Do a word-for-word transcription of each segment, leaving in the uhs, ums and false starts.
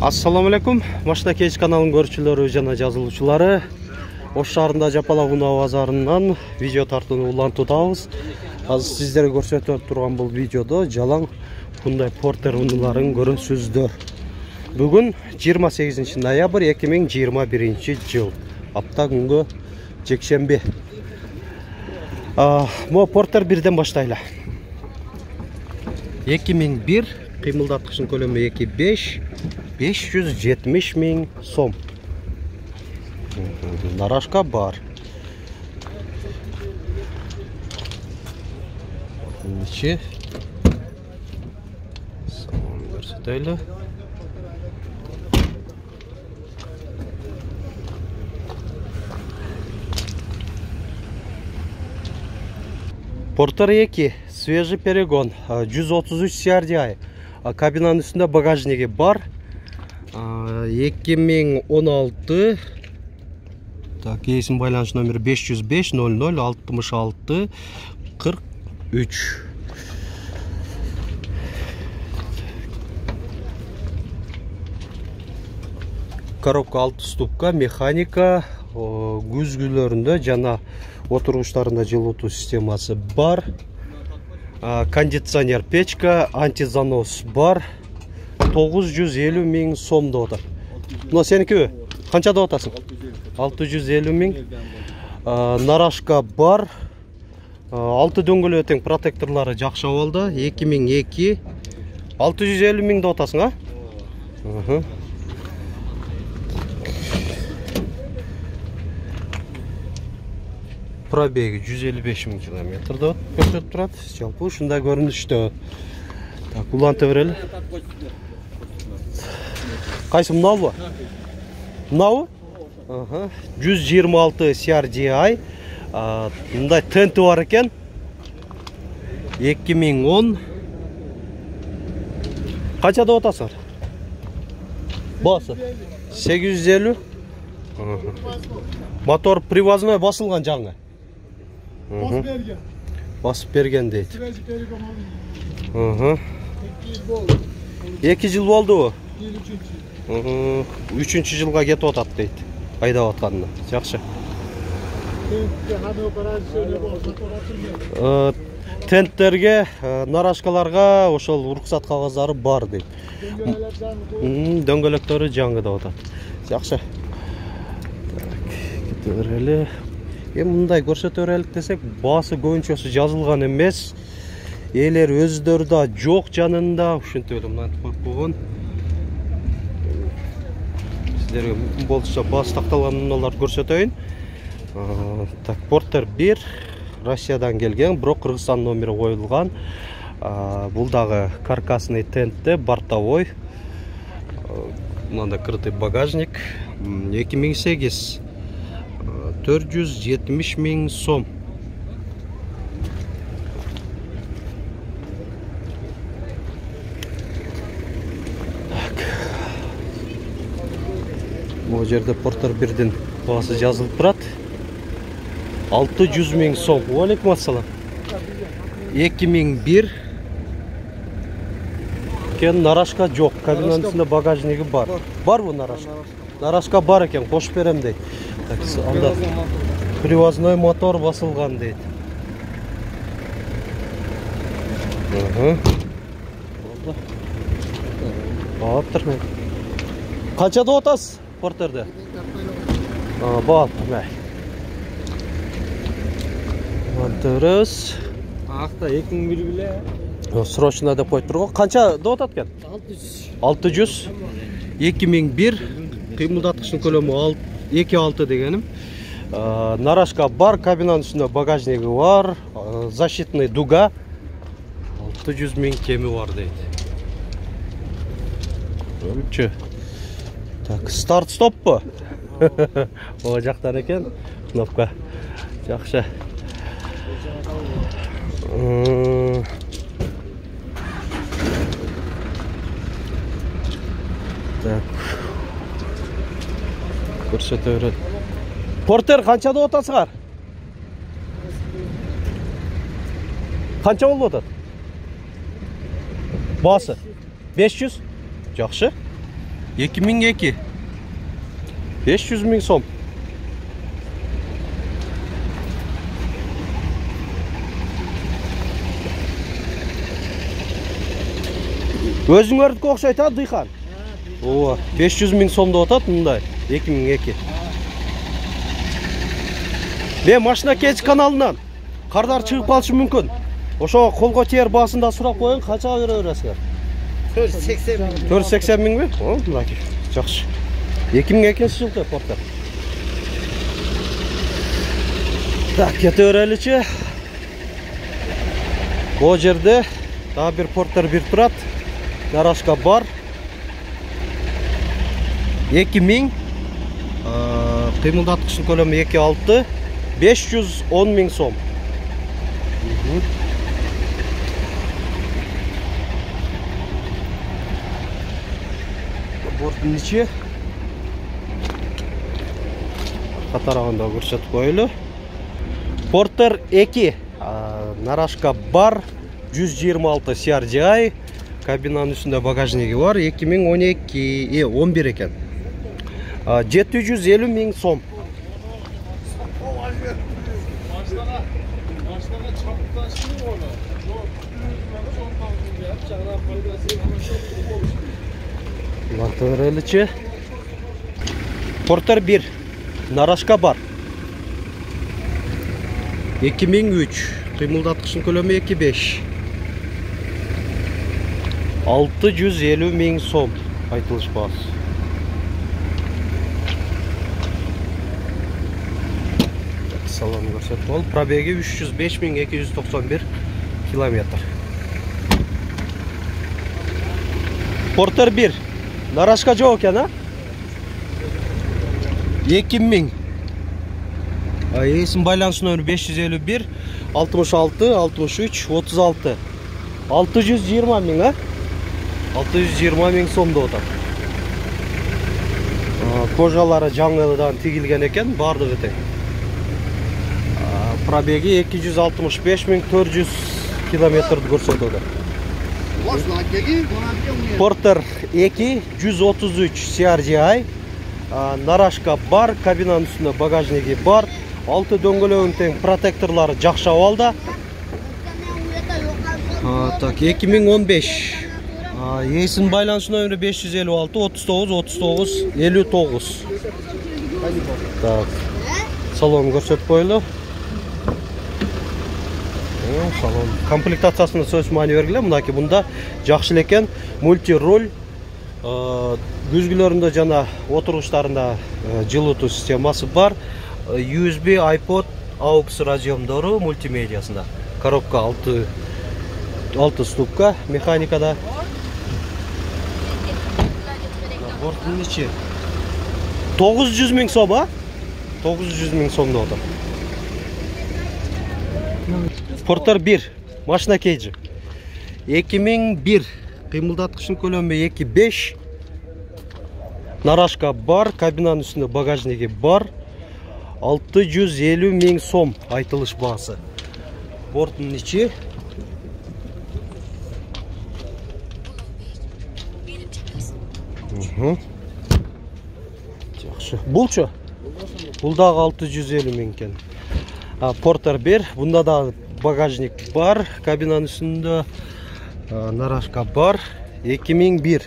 Assalamu alaikum. Машина кеч каналынын көрүүчүлөрү жана жазылуучулары. Ош шаарында Жапалак унаа базарынан видео тартууну улантуудабыз. Азыр сиздерге көрсөтүп турган бул видеодо жалаң Hyundai Porter унааларын көрөсүздөр. Бүгүн жыйырма сегизинчи ноябрь эки миң жыйырма биринчи жыл. Апта күнгө жекшемби. А, мо Porter бирден баштайлы. эки миң бир кыймылдаткычтын көлөмү эки беш беш жүз жетимиш миң сом. Нарашка бар. Нече? Салон көрсөтөлү. Porter эки, свежий перегон, жүз отуз үч си ар ди ай. Кабинанын үстүндө багажниги бар. эки миң он алты. Так, кейсин байланыш номери беш жүз беш ноль ноль алтымыш алты кырк үч. Коробка алты ступка, механика, күзгүлөрүндө жана отургучтарында жылытуу системасы бар. Кондиционер печка, антизанос бар. тогуз жүз элүү миң сом деп атат. Но сеники канча деп атасың? алты жүз элүү миң. Нарашка бар. алты дөңгөлөө тең, протекторлары жакшы болду. эки миң эки. алты жүз элүү миң деп атасың, а? Ага. Пробеги жүз элүү беш миң километр деп көрсөтүп турат. Жалпы ушундай көрүнүштө. Так, улантып берели. Кайсы мынаабы? Мынабы? Ага. жүз жыйырма алты си ар ди ай. Мындай тенти бар экен. эки миң он. Канча деп атасыңар? Басы сегиз жүз элүү. Мотор привозной басылган жаңы. Басып берген. Басып берген дейт. Ага. эки жыл болду. үчүнчү жылга кетип атат дейт. Айдап атканына. Жакшы. Тенттерге, нарашкаларга ошол уруксат кагыздары бар дейт. Дөңгөлөктөрү жаңы деп атат. Жакшы. Так, кете берели. Эми мындай көрсөтө берелик десек, баасы көбүнчөсү жазылган эмес. Элер өздөрү да жок жанында, ушинтип эле мынтип коюп койгон. Сиздерге мүмкүн болсо баасы такталган унааларды көрсөтөйүн. Так, Porter бир Россиядан келген, бирок Кыргызстан номери коюлган. Бул дагы каркасный тентте, бортовой. Мында крытый багажник. эки миң сегиз. төрт жүз жетимиш миң сом. Бул жерде Porter бирдин баасы жазылып турат. алты жүз миң сом. Алейкум ассалам. эки миң бир. Кен нарашка жок. Кабинанын үстүндө багажниги бар. Барбы нарашка? Нарашка бар экен, кошуп берем дейт. Так, анда привозной мотор басылган дейт. Ага. Болду. Баптыр мен. Канча деп атасыз Porterде? А, баптыр мен. Антырыз. Акта эки миң бир биле. Срочно деп коюп турган. Канча деп атат экен? алты жүз. эки миң бир. Кыймылдаткычтын көлөмү эки алты дегеним. Нарашка бар, кабинанын үстүндө багажниги бар, защитный дуга. алты жүз миң кеми бар дейт. Өлчү. Так, старт стоппу? О жактан экен кнопка. Жакшы. Так. Көрсөтө берет. Porter канча деп атасыңар? Канча болуп атат? Басы беш жүз. Жакшы. эки миң эки. беш жүз миң сом. Өзүңөрдүкү окшойт а, Дыйхан? Ооба, беш жүз миң сомдо атат мындай, эки миң эки. Мен машина кеч каналынан кардар чыгып калышы мүмкүн. Ошого колго тээр баасында сурап коюң, канчага бере бересиңер? төрт жүз сексен миң. төрт жүз сексен миңби? О, мынакей. Жакшы. эки миң экинчи жылкы Портер. Так, кете береличи. Бул жерде дагы бир Портер бир турат. Нарашка бар. эки миң. Кыймылдаткычтын көлөмү эки алты. беш жүз он миң сом. Борттун ичи. Катараганда көрсөтүп коелу. Портер эки. Нарашка бар. жүз жыйырма алты си ар джи ай. Кабинанын үстүндө багажниги бар. эки миң он эки, э, он бир экен. жети жүз элүү миң сом. Лактыреличи. Портер бир. Нарашка бар. эки миң үч. Кыймылдаткычтын көлөмү эки беш. алты жүз элүү миң сом айтылыш баасы. Салон көрсөтүп бол. Пробеги үч жүз беш миң эки жүз токсон бир километр. Портер бир. Нарашка жок экен, а? эки миң. Эсин байланыш номери беш жүз элүү бир алтымыш алты алтымыш үч отуз алты. алты жүз жыйырма миң, а? алты жүз жыйырма миң сомдо атат. Кожалары жаңыдан тигилген экен, бардыгы тең. Пробеги эки жүз алтымыш беш миң төрт жүз километрди көрсөтөдө. Портер эки жүз отуз үч си ар джи ай. Нарашка бар, кабинанын үстүндө багажниги бар. Алты дөңгөлөгүн тең, протекторлору жакшы абалда. Так, эки миң он беш. Эсин байланыш номери беш жүз элүү алты отуз тогуз отуз тогуз элүү тогуз. Так. Салон көрсөтүп коелу. Салон комплектациясына сөз маани бергиле. Мынакей бунда жакшы экен. Мульти руль, күзгүлөрүндө жана отуруштарында жылытуу системасы бар. ю эс би, iPod, aux разъемдору мультимедиасында. Коробка алты алты ступка механикада. Борттун ичи тогуз жүз миң сом, а? тогуз жүз миң сомдо отыр. Портер бир. Машина кейджи. эки миң бир. Кыймылдаткычтын көлөмү эки беш. Нарашка бар, кабинанын үстүндө багажниги бар. алты жүз элүү миң сом айтылыш баасы. Борттун ичи. Жакшы. Булчу? Бул дагы алты жүз элүү миң экен. Портер бир. Бунда дагы багажник бар, кабинанын үстүндө нарашка бар. эки миң бир.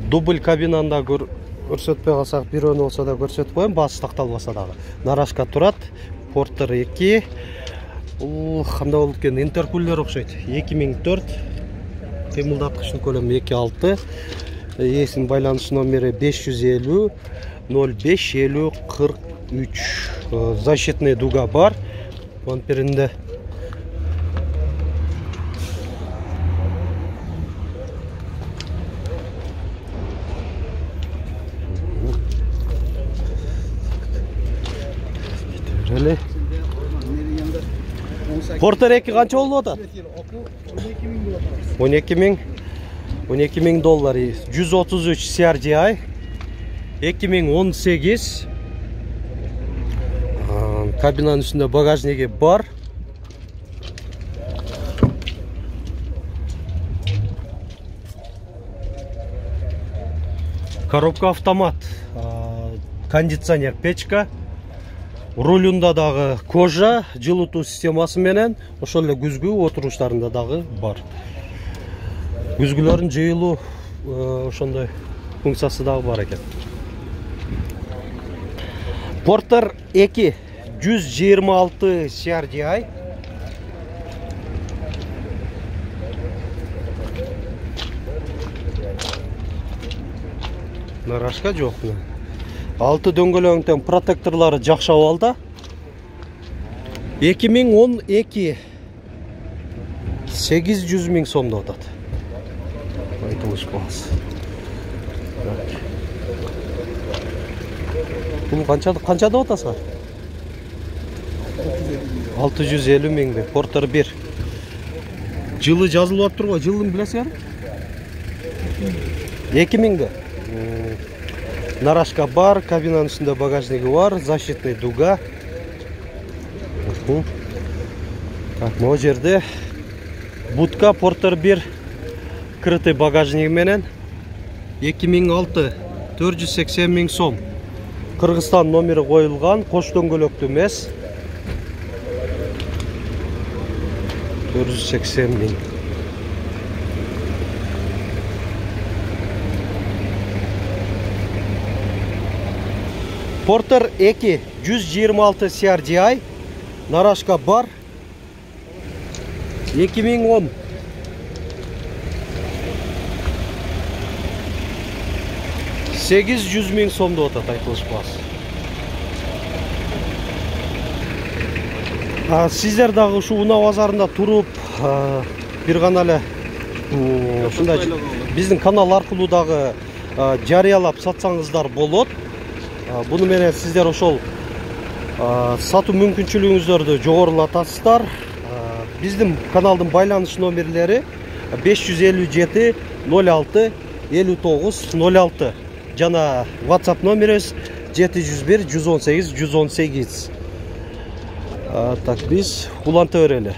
Дубль кабинанда көрсөтпөй калсак, бирөөнү болсо да көрсөтүп коем, баасы такталбаса дагы. Нарашка турат. Портер эки. Бул кандай болуп экен? Интеркулер окшойт. эки миң төрт. Кыймылдаткычтын көлөмү эки алты. Эсин байланыш номери беш жүз элүү ноль беш элүү кырк үч. Защитный дуга бар. Бамперинде. Портер эки канча болуп атат? он эки миң. он эки миң доллар, жүз отуз үч си ар джи ай, эки миң он сегиз. Кабинанын үстүндө багажниги бар. Коробка автомат, кондиционер, печка. Рулунда дагы кожа, жылытуу системасы менен, ошол эле күзгү отуруштарында дагы бар. Күзгүлөрдүн жыйылуу ошондой функциясы дагы бар экен. Porter эки, жүз жыйырма алты си ар джи ай. Нарашка жок. Алты дөңгөлөктөн протекторлору жакшы абалда. эки миң он эки, сегиз жүз миң сомдо атат. Айтылыш баасы. Бул канчада канчада атасыздар? алты жүз элүү миңди. Porter бир. Жылы жазылып турбу? Жылын билесиңерби? эки миңди. Нарашка бар, кабинанын үстүндө багажниги бар, защитный дуга. Так, могу жерде будка Porter бир крытый багажниги менен эки миң алты, төрт жүз сексен миң сом. Кыргызстан номери коюлган, кош дөңгөлөктүү эмес. төрт жүз сексен миң. Porter эки, жүз жыйырма алты си ар джи ай. Нарашка бар. эки миң он. сегиз жүз миң сомдо атат, айтылыш баасы. Сиздер дагы ушу Унаа базарында туруп, бир гана эле ушундай биздин канал аркылуу дагы жарыялап сатсаңыздар болот. Буну менен сиздер ошол сатуу мүмкүнчүлүгүңүздөрдү жогорулатасыздар. Биздин каналдын байланыш номерлери беш жүз элүү жети, ноль алты, элүү тогуз, ноль алты. Жана WhatsApp номерибиз жети жүз бир, жүз он сегиз, жүз он сегиз. Так, биз уланта берели.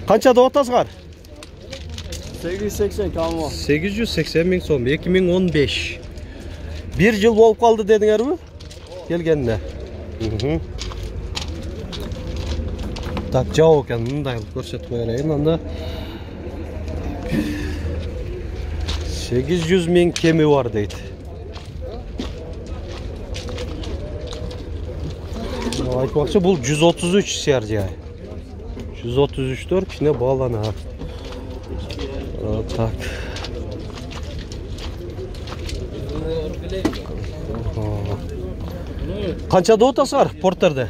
Канча деп атасыңар? сегиз жүз сексен камо. сегиз жүз сексен миң сом, эки миң он беш. бир жыл болуп калды дедиңерби? Келгенде. Так, жабык экен, мындай көрсөтүп берейин анда. сегиз жүз миң кеми бар дейт. Айтмакчы, бул жүз отуз үч си ар джи ай. жүз отуз үчтөр кичине бааланат. Так. Канча деп атасыңар Porter'де?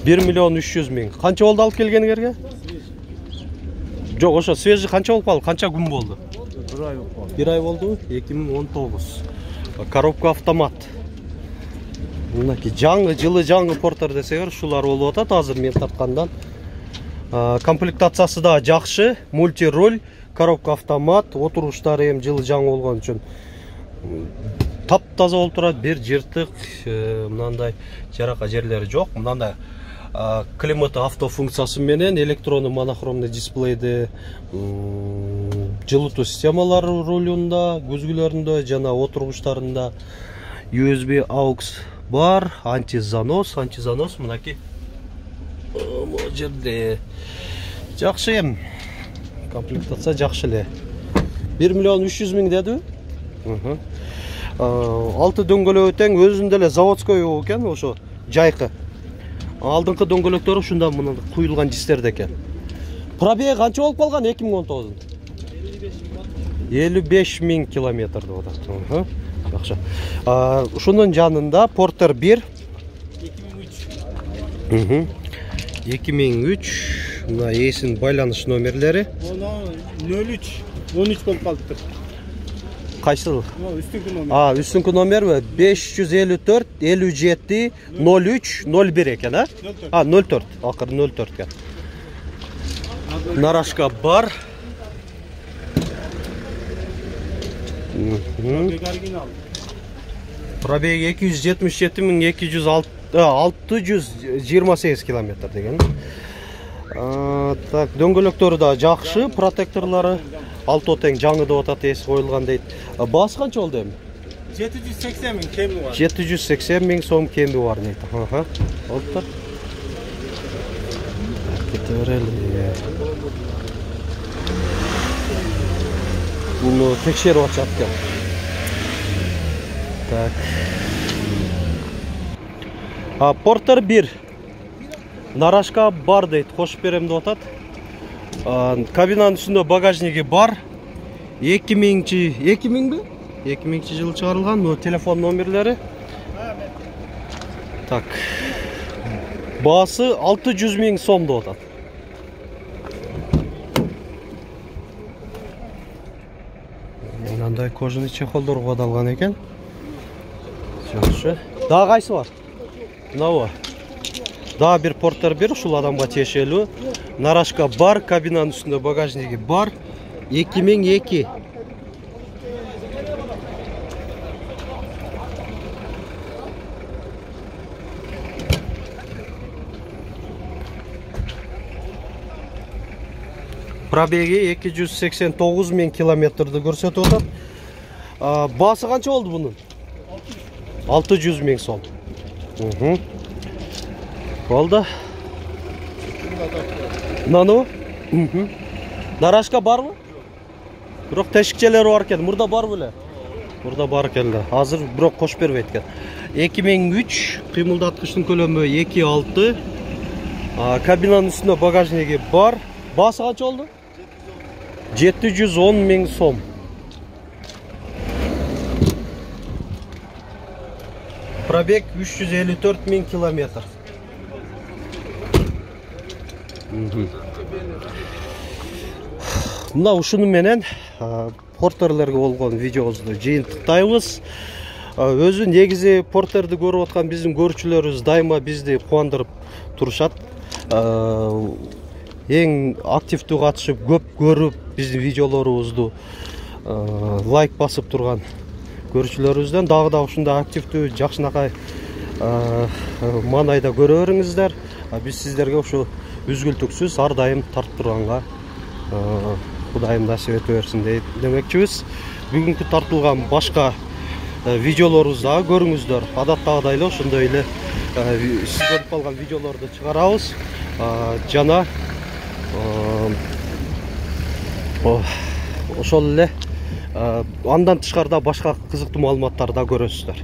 бир миллион үч жүз миң. Канча болду алып келгениңерге? Жок, ошо свежий канча болуп калды? Канча күн болду? бир ай болуп калды. бир ай болду, эки миң он тогуз. Коробка автомат. Мынакей жаңы, жылы жаңы Porter десеңер, ушулар болуп атат азыр мен тарткандан. Комплектациясы да жакшы, мульти-руль, коробка автомат, отуруштары эми жылы жаңы болгон үчүн таптаза болуп турат, бир жыртык, мындай жарака жерлери жок. Мындай климат автофункциясы менен электрондуу монохромный дисплейди, жылытуу системалары рулунда, күзгүлөрүндө жана отургучтарында ю эс би aux бар, антизанос, антизанос мынакей. Могу жерде жакшы эм. Комплектация жакшы эле. бир миллион үч жүз миң дедиби? Алты дөңгөлөгү тең, өзүндө эле заводской экен, ошо жайкы. Алдыңкы дөңгөлөктөрү ушунда мына куюлган жистерде экен. Пробеги канча болуп калган эки миң он тогузун? элүү беш миң километр деп атат. Жакшы. Ушунун жанында Porter бир эки миң үч, мына эсин байланыш номерлери. ноль үч, он үч болуп калыптыр. Кайсыл? Үстүнкү номер. А, үстүнкү номер беш жүз элүү төрт, элүү жети, ноль үч, ноль бир экен, а? А, ноль төрт, акыры ноль төрт экен. Нарашка бар. Пробег оригинал. Пробег эки жүз жетимиш жети миң эки жүз алты жүз жыйырма сегиз километр деген. Так, дөңгөлөктөрү да жакшы, протекторлору алты тең жаңы деп атат, эси коюлган дейт. Баасы канча болду эми? жети жүз сексен миң кеми бар. жети жүз сексен миң сом кеми бар дейт. Аха. Болду. Кете берели. Буну текшерип атышат экен. Так. А Портер бир. Нарашка бар дейт, кошуп берем деп атат. Кабинанын үстүндө багажниги бар. эки миңчи, эки миңби? эки миңчи жылы чыгарылган. Бул телефон номерлери. Так. Баасы алты жүз миң сом деп атат. Мындай кожаный чехолдор кодолгон экен. Жакшы. Дагы кайсы бар? Мынабы. Дагы бир Портер бир, ушул адамга тиешелүү. Нарашка бар, кабинанын үстүндө багажниги бар. эки миң эки. Пробеги эки жүз сексен тогуз миң километрди көрсөтүп атат. Баасы канча болду бунун? алты жүз миң сом. Угу. Болду. Нану? Угу. Нарашка барбы? Бирок тешикчелери бар экен. Мурда бар беле? Мурда бар экен да. Азыр бирок кошуп бербейт экен. эки миң үч, кыймылдаткычтын көлөмү эки алты. Кабинанын үстүндө багажниги бар. Баасы канча болду? жети жүз он миң сом. Пробег үч жүз элүү төрт миң километр. Мына ушуну менен Портерлерге болгон видеобузду жыйынтыктайбыз. Өзү негизи Портерди көрүп аткан биздин көрүүчүлөрүбүз дайыма бизди кубандырып турушат. Эң активдүү катышып, көп көрүп, биздин видеолорубузду лайк басып турган көрүүчүлөрүбүздөн дагы да ушундай активдүү, жакшынакай маанайда көрө бериңиздер. Биз сиздерге ушу үзгүлтүксүз ар дайым тартып турганга Кудайым насип ете берсин демекчибиз. Бүгүнкү тартылган башка видеолорубузду дагы көрүңүздөр. Адаттагыдай эле ошондой эле сиз көрүп калган видеолорду чыгарабыз. Жана ошол эле андан тышкарда башка кызыктуу маалыматтарды да көрөсүздөр.